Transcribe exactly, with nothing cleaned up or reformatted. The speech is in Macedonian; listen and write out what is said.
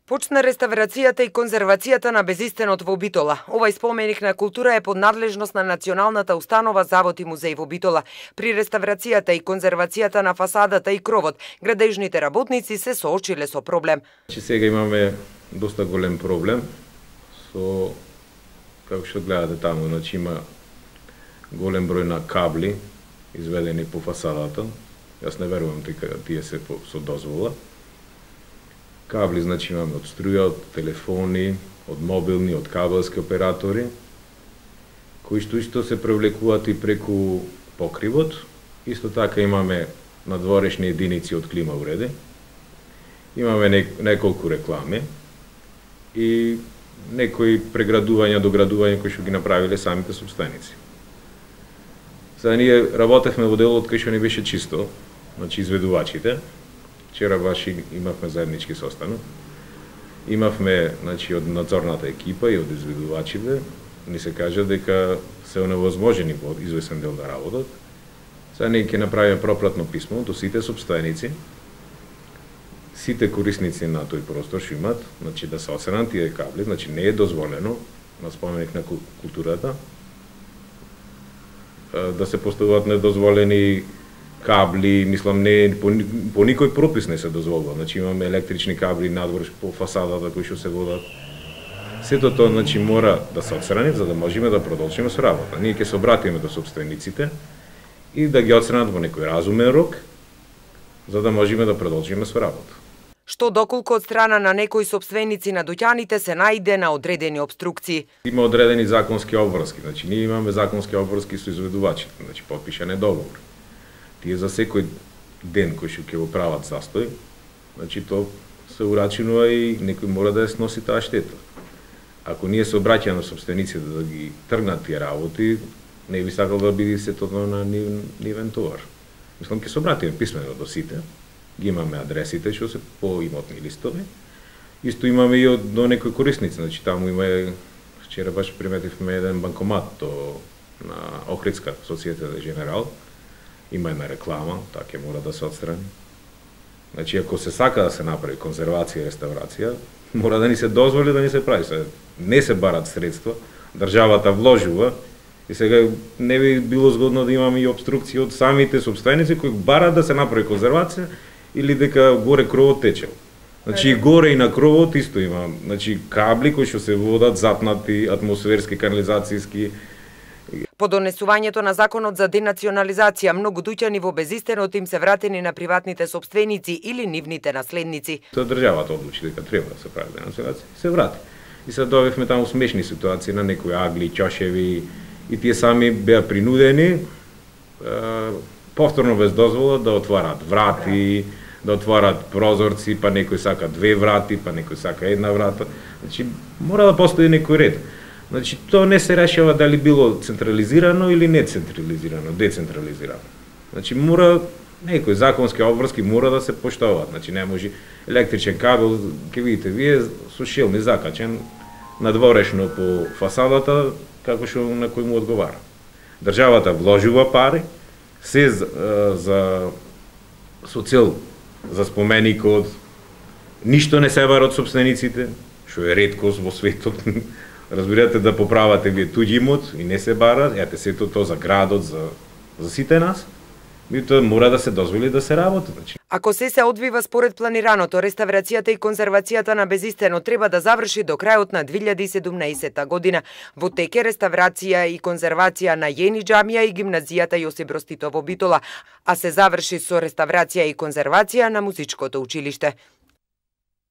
Почна реставрацијата и конзервацијата на Безистенот во Битола. Овај споменик на култура е под надлежност на Националната установа Завод и музеј во Битола. При реставрацијата и конзервацијата на фасадата и кровот, градежните работници се соочиле со проблем. Че сега имаме доста голем проблем со, како што гледате таму, значи има голем број на кабли изведени по фасадата. Јас не верувам дека тие се со дозвола. Кабли, значи имаме од струја, од телефони, од мобилни, од кабелски оператори, кои што исто се превлекуваат и преку покривот. Исто така имаме надворешни единици од клима уреди. Имаме не, неколку реклами и некои преградувања, доградувања кои што ги направиле самите собственици. Сега ние работевме во делот кај што не беше чисто, значи изведувачите. Вчера баш имавме заеднички состанок. Имавме, значи, од надзорната екипа и од изведувачите, ни се кажа дека се оневозможени во извесен дел да работат. Сега ние ќе направиме пропратно писмо до сите собственици, сите корисници на тој простор што имат, значи да се осенат тие кабли, значи не е дозволено на споменик на културата да се поставуваат недозволени кабли, мислам, не, по, по никој пропис не се дозволува. Значи имаме електрични кабли надвор по фасадата кои што се водат. Сето тоа, значи, мора да се отстрани за да можеме да продолжиме со работа. Ние ќе се обратиме до собствениците и да ги отстранат во некој разумен рок за да можеме да продолжиме со работа. Што доколку од страна на некои собственици на дуќаните се наиде на одредени обструкции. Има одредени законски обврски, значи ние имаме законски обврски со изведувачите, значи потпишан е договор. Тие за секој ден кој што ќе го прават застој, значи то се урачинува и некој мора да ја сноси таа штета. Ако ние се обраќаме на собствениците да ги тргнат тие работи, не би сакал да биде сето на нивен товар. Мислам, ќе се обратиме писмено до сите, ги имаме адресите што се по имотни листови. Исто имаме и од до некои корисници, значи таму има, вчера баш приметивме еден банкомат до на Охридска Societe Generale. Има една реклама, таа ќе мора да се отстрани. Значи, ако се сака да се направи конзервација и реставрација, мора да ни се дозволи да ни се прави. Не се барат средства, државата вложува и сега не би било згодно да имаме и обструкции од самите собственици кои барат да се направи конзервација или дека горе кровот течел. Значи, и горе и на кровот исто има, значи, кабли кои што се водат, запнати, атмосферски, канализацијски. По донесувањето на законот за денационализација, многу дуќани во Безистенот им се вратени на приватните собственици или нивните наследници. Тоа државата одлучи дека треба да се прави денационализација и се врати. И се добивме таму смешни ситуации на некои агли, чошеви и тие сами беа принудени е, повторно без дозвола да отварат врати, да отварат прозорци, па некој сака две врати, па некој сака една врата. Значи мора да постои некој ред. Значи, тоа не се решава дали било централизирано или не централизирано, децентрализирано. Значи, мора, некои законски обврски мора да се поштоваат. Значи, не може електричен кабел, ке видите, вие со шилми закачен надворешно по фасадата, како што на кој му одговара. Државата вложува пари, се за, за со цел за споменикот, ништо не се бара од собствениците, што е реткост во светот. Разбирате да поправате вие туѓи имот и не се бара, ете сето тоа за градот, за, за сите нас, и тоа мора да се дозволи да се работи. Значи. Ако се се одвива според планираното, реставрацијата и конзервацијата на Безистенот треба да заврши до крајот на две илјади и седумнаесетта година. Во теке реставрација и конзервација на Јени џамија и гимназијата Јосип Броз Тито во Битола, а се заврши со реставрација и конзервација на музичкото училиште.